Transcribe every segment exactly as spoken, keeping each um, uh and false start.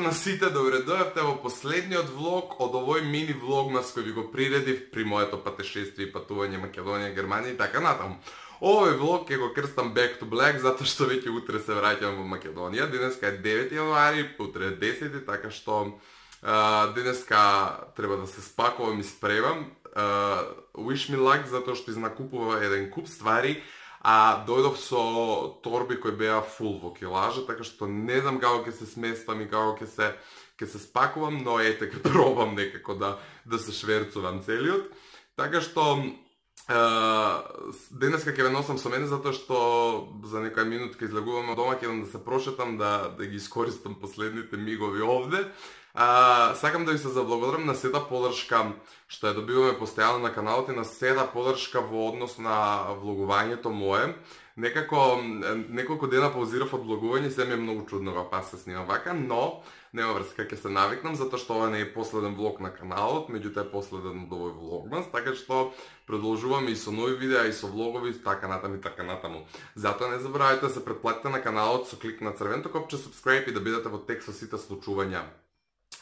на сите, добре дојавте во последниот влог од овој мини влогмас кој ви го приредив при моето патешествие и патување Македонија, Германија и така натаму. Овој влог ќе го крстам Back to Black затоа што веќе утре се враќам во Македонија. Денеска е девети јануари, утре е десети, така што а, денеска треба да се спакувам и спремам. А, wish me luck затоа што изнакупува еден куп ствари. А дојдов со торби кои беа фул во килажа, така што не знам како ќе се сместам и како ќе се ќе се спакувам, но ете ќе пробам некако да да се шверцувам целиот. Така што е, денеска ќе ве носам со мене затоа што за некоја минутка излегувам од дома, ќе да се прошетам да да ги искористам последните мигови овде. А, сакам да ви се заблагодарам на сета подршка што ја добиваме постојано на каналот и на сета подршка во однос на влогувањето мое. Некако неколку дена паузирав од влогување, се ми е многу чудно во пас се снимам вака, но нема врска, ќе се навикнам затоа што ова не е последен влог на каналот, меѓутоа е последен од овој влогмас, така што продолжуваме и со нови видеа и со влогови и така натаму и така натаму. Затоа не заборавајте да се претплатите на каналот со клик на црвеното копче subscribe и да бидете во текст со сите случувања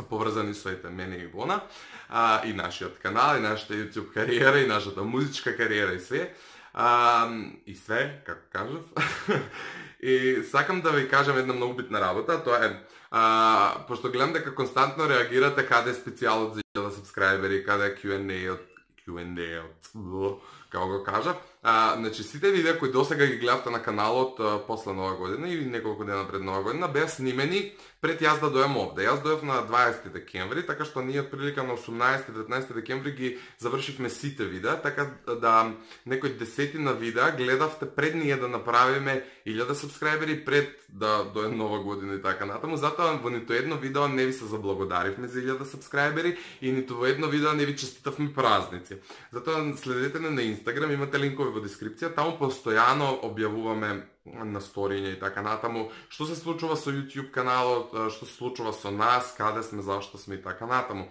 поврзани со ете мене и Ивона, а, и нашиот канал, и нашата YouTube кариера, и нашата музичка кариера и све. А, и све, како кажав. И сакам да ви кажам една многу битна работа, тоа е, а, пошто гледам дека константно реагирате каде е специјалот за илјада сабскрајбери, каде е Q and A-от, Q and A-от, како го кажав. А, значи, сите видеа кои досега ги гледавте на каналот а, после Нова година и неколку дена пред Нова година беа снимени пред јас да дојам овде. Јас дојав на дваесети декември, така што ние прилика на осумнаесети деветнаесети декември ги завршивме сите видеа, така да некои десетина видеа гледавте пред ние да направиме илјада сабскрајбери пред да дојде Нова година и така натаму. Затоа во ниту едно видео не ви се заблагодаривме за илјада сабскрајбери и ниту во едно видео не ви честитавме празници. Затоа следете на Инстаграм, имате линкови во дескрипција, таму постојано објавуваме на сториња и така натаму што се случува со YouTube каналот, што се случува со нас, каде сме, зашто сме и така натаму.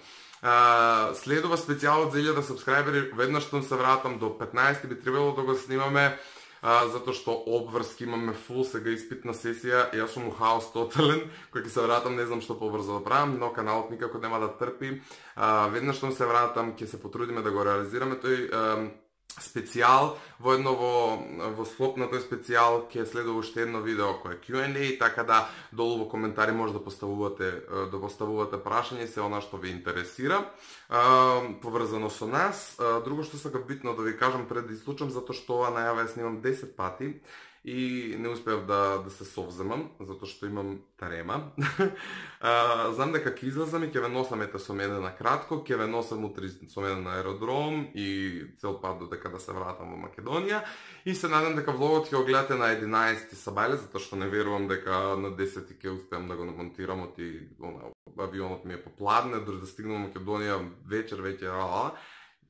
Следува специјалот за илјада сабскрајбери, веднаш што се вратам до петнаесети би требало да го снимаме, затоа што обврски имаме фул сега испитна сесија, јас сум у хаос тотален, кој ќе се вратам, не знам што побрзо да правам, но каналот никако нема да трпи. Веднаш што се вратам, ќе се потрудиме да го реализираме тој специјал, во едно во, во склоп на тој специјал ќе следува уште едно видео кој е Q and A, така да долу во коментари може да поставувате да поставувате прашања и се она што ви интересира поврзано со нас. Друго што сакам битно да ви кажам пред да исклучам, затоа што ова најава ја снимам десет пати и не успеав да, да се совземам, затоа што имам тарема. а, знам дека ќе излезам и ќе ве носам ете со мене на кратко, ќе ве носам утре со мене на аеродром и цел пат додека да се вратам во Македонија. И се надам дека влогот ќе го гледате на единаесети сабајле, затоа што не верувам дека на десети ќе успеам да го намонтирам, оти авионот ми е попладне, дори да стигнам во Македонија вечер, веќе ала.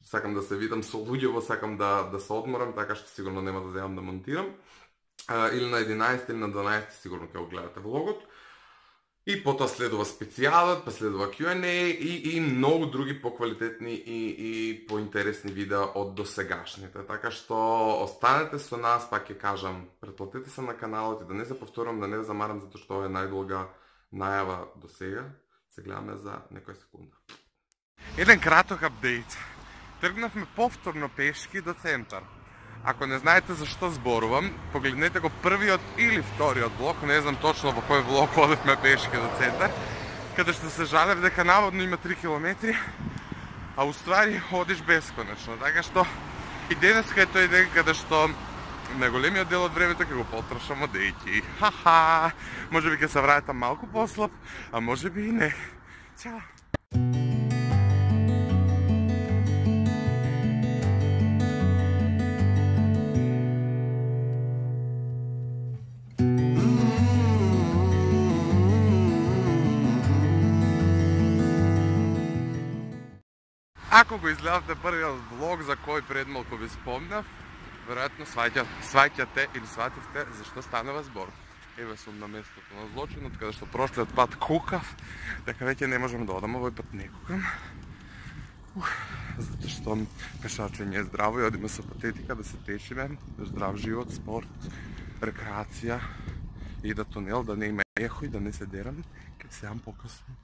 Сакам да се видам со луѓево, сакам да, да се одморам, така што сигурно нема да земам да монтирам. Uh, или на единаесети или на дванаесети сигурно ќе го гледате влогот. И потоа следува специјалот, па следува Q and A и, и многу други поквалитетни и, и поинтересни видеа од досегашните. Така што останете со нас, пак ќе кажам, претплатете се на каналот и да не се повторам, да не ве замарам, затоа што ова е најдолга најава до сега. Се гледаме за некоја секунда. Еден краток апдейт. Тргнавме повторно пешки до центар. Ако не знаете за што зборувам, погледнете го првиот или вториот влог, не знам точно во кој влог одевме пешки до центар, каде што се жалев дека наводно има три километри, а уствари одиш бесконечно. Така што и денеска е тој ден каде што најголемиот дел од времето ќе го потрошам одејќи. Ха-ха! Може би ќе се вратам малку послаб, а може би и не. Чао! Ако го изгледавте првиот влог за кој пред малку ви спомнав, веројатно сваќате или свативте зашто станува збор. Еве сум на местото на злочинот, каде што прошлиот пат кукав, дека веќе не можам да одам, овој пат не кукам. Затоа што пешачење е здраво и одиме со патетика да се тешиме, здрав живот, спорт, рекреација и да тунел, да не има ехо и да не се дерам, ке се јам покасно.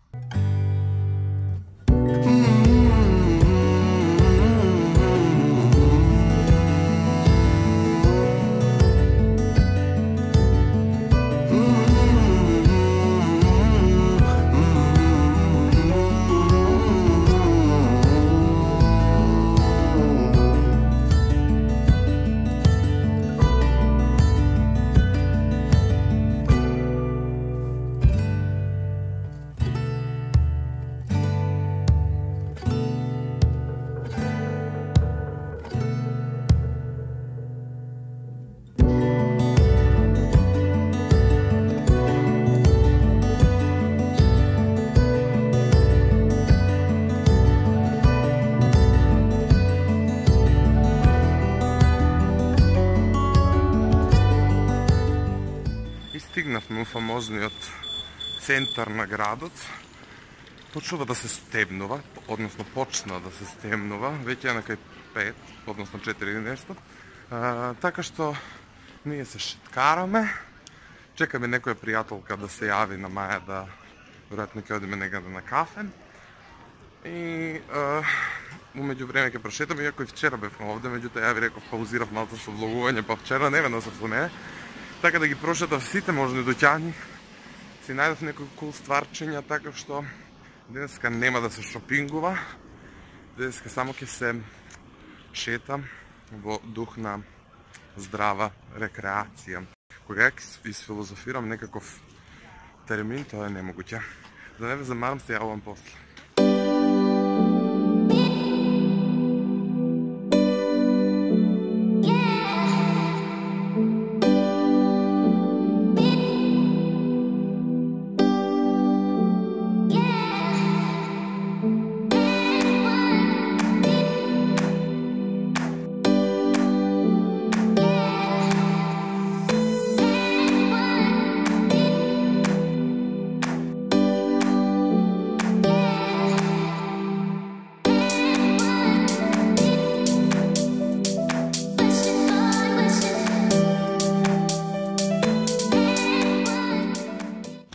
Стигнавме у фамозниот центар на градот. Почнува да се стемнува, односно почна да се стемнува, веќе е на кај пет, односно четири нешто. А, така што ние се шеткараме, чекаме некоја пријателка да се јави на маја да веројатно ќе одиме некаде на кафе. И а, умеѓу време ќе прошетаме, иако и вчера бевме овде, меѓутоа ја ви реков паузирав малку со влогување, па вчера не веднаш со мене. Така да ги прошетав сите можни доќани, си најдов некои кул стварчиња, така што денеска нема да се шопингува, денеска само ќе се шетам во дух на здрава рекреација. Кога ќе изфилозофирам некаков термин, тоа е немогуќе. Да не ве замарам, се јавувам после.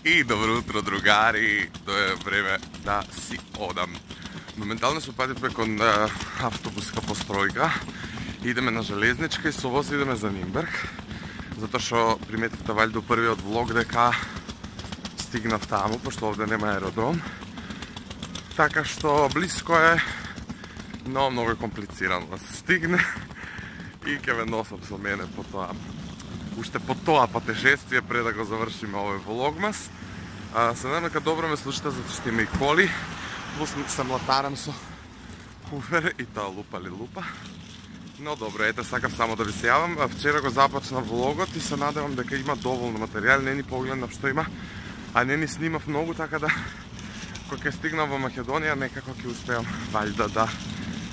И добро утро, другари! Тоа е време да си одам. Моментално се упативме кон автобуска постројка. Идеме на железничка и со воз идеме за Нимберг. Затоа што приметивте валјда у првиот влог дека стигнав таму, пошто овде нема аеродром. Така што близко е, но многу е комплицирано да се стигне. И ќе ве носам со мене по тоа. Уште по тоа патешествие пред да го завршиме овој влогмас. Се надам дека добро ме слушате, затоа што има и коли. Плюс се млатарам со хуфер и таа лупа ли лупа. Но добро, ете, сакам само да ви се јавам. Вчера го започна влогот и се надевам дека има доволно материјал. Не ни погледнав што има, а не ни снимав многу, така да кога ќе стигнам во Македонија, некако ќе успеам валјда да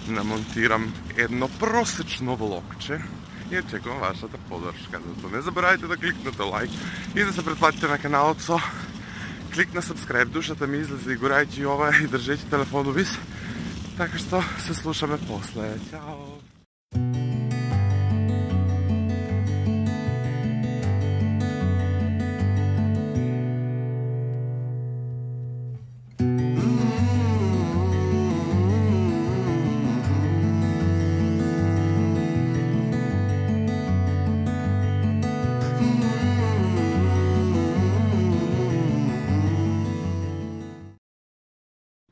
намонтирам едно просечно влогче. И очекувам вашата поддршка. Зато не заборавајте да кликнете лайк и да се претплатите на каналот со клик на subscribe. Душата ми излезе и горајќи ова и држејќи телефонот вис. Така што се слушаме после. Ćao!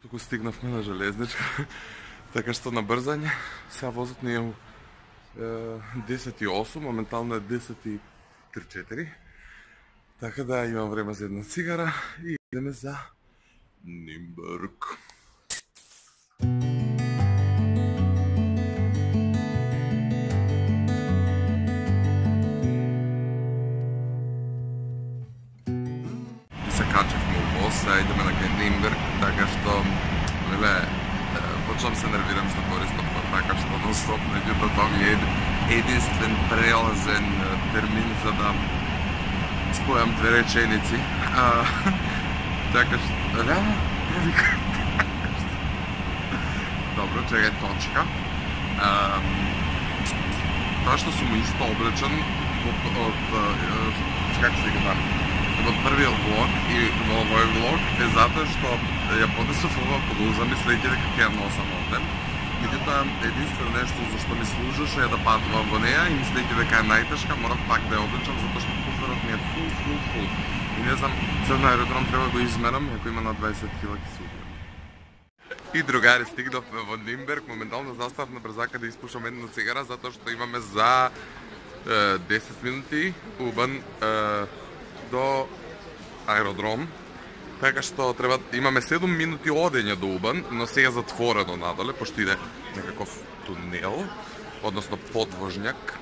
Туку стигнавме на железничка, така што на брзање. Сега возот ни е десет и осум, моментално е десет и три. Така да имам време за една цигара и идеме за Нимберг. И се качевме у воз, сега идеме на кај Нимберг, така што, леле, почнам се нервирам што користам, така што нон-стоп, меѓутоа тоа ми е единствен прелазен термин за да спојам две реченици. А, така што, реално, добро, чекај точка. А, тоа што сум исто облечен од, од, од како се ги во првиот влог и во овој влог е затоа што ја подесов ова блуза мислејќи дека ќе ја носам овде. Меѓутоа, единствено нешто за што ми служеше е да патувам во неа и мислејќи дека е најтешка, морав пак да ја облечам затоа што куферот ми е фул, фул, фул. И не знам, цел на аеродром треба да го измерам, ако има на дваесет килограми ќе се убијам. И другари, стигнавме во Нимберг, моментално заставав на брзака да испушам една цигара затоа што имаме за е, десет минути убан е, до аеродром. Така што треба имаме седум минути одење до Убан, но сега е затворено надоле, пошто иде некаков тунел, односно подвожњак.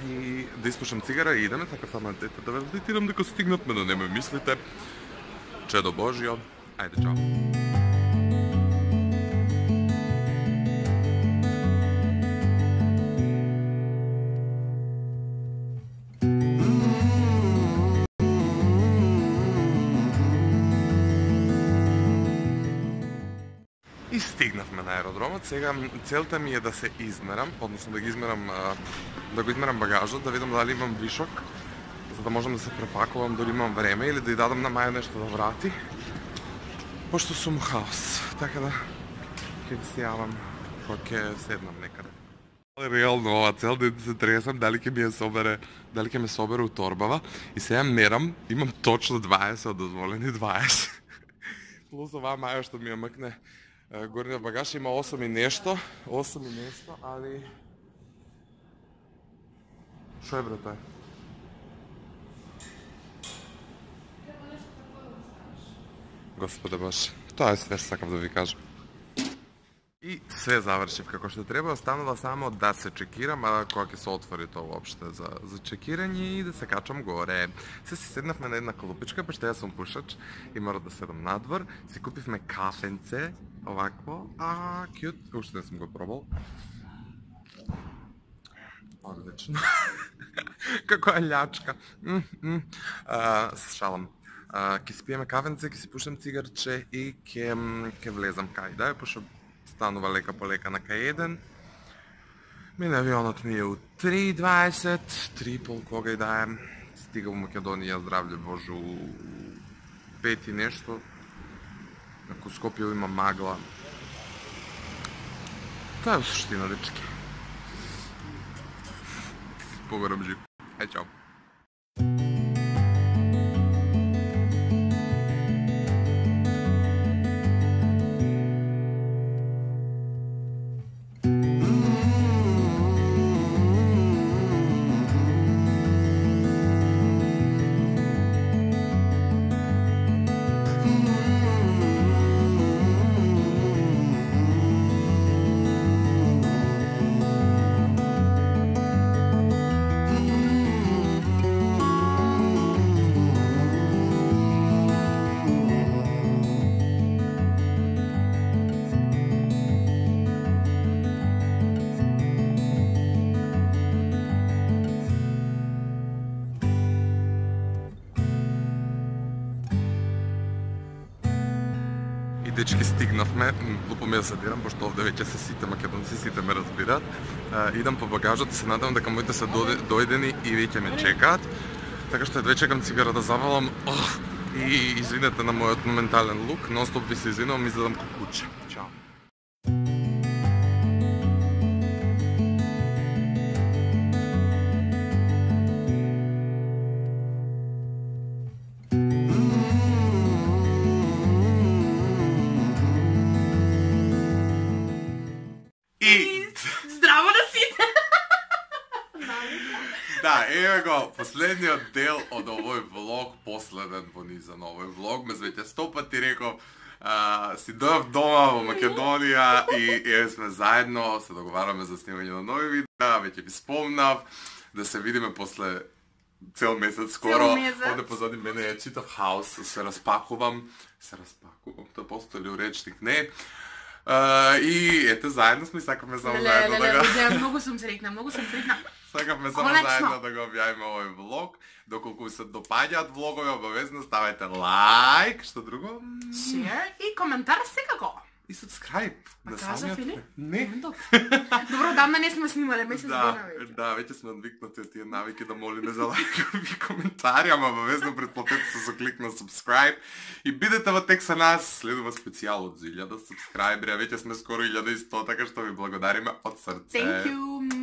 И да испушам цигара и идеме, така само дете да ве апдейтирам дека стигнатме, да не ме мислите. Чедо Божјо, ајде чао. И стигнавме на аеродромот. Сега целта ми е да се измерам, односно да ги измерам, да го измерам багажот, да видам дали имам вишок, за да можам да се препакувам дали имам време или да ја дадам на Маја нешто да врати. Пошто сум хаос, така да ќе ви се јавам кога ќе седнам некаде. Реално ова цел ден се тресам дали ќе ми ја собере, дали ќе ме собере у торбава и сега мерам, имам точно дваесет дозволени дваесет. Плюс оваа Маја што ми ја мкне горниот багаж има осум и нешто, осум и нешто, али шо е бре тој? Господе Боже, тоа е све што сакав да ви кажам. И све завршив како што треба, останува само да се чекирам, а кога ќе се отвори тоа воопште за, за чекирање и да се качам горе. Се си седнавме на една клупичка, пошто јас сум пушач и мора да седам надвор. Си купивме кафенце, овакво, а кјут, уште не сум го пробал. Одлично. Како е љачка. Mm, mm. А, шалам. Ке си пиеме кафенце, ке си пушам цигарче и ке, ке влезам кај да е, пошто станува лека по лека на кај еден. Мине авионот ми е у три и дваесет, три и пол кога и да е. Стига во Македонија, здравле Боже, у пет и нешто. Ако Скопје има магла. Тоа е суштина, дечки. Погорам жив. Ај, чао. Дечки, стигнавме, глупо ми да се дирам, пошто овде веќе се сите македонци, сите ме разбираат. Идам по багажот, се надевам дека моите се дојдени и веќе ме чекаат. Така што едве чекам цигара да завалам. Ох, и извинете на мојот моментален лук, нон-стоп ви се извинувам, изгледам како куче. Чао. Да, еве го, последниот дел од овој влог, последен во низа на овој влог. Мез веќе сто пати реков, а, си дојав дома во Македонија и еве сме заедно, се договараме за снимање на нови видеа, веќе ви спомнав да се видиме после цел месец скоро. Овде позади мене е читав хаос, се распакувам, се распакувам, тоа постои ли у речник, не. Uh, и ете, заедно сме и сакаме само заедно да го... Многу сум среќна, многу сум среќна. Сакаме само заедно да го објавиме овој влог. Доколку ви се допаѓаат влогови, обавезно ставајте лайк, што друго? Шер и коментар секако. и subscribe. А на кажа, самиот- Филип? Не. Добро, Добро, давна не сме снимале, месец Да, дена веќе. да, веќе сме одвикнати од тие навики да молиме за лајкови коментари, ама обавезно претплатете се со клик на subscribe и бидете во тек со нас, следува специјал од илјада subscriberi, а веќе сме скоро илјада и сто, така што ви благодариме од срце. Thank you.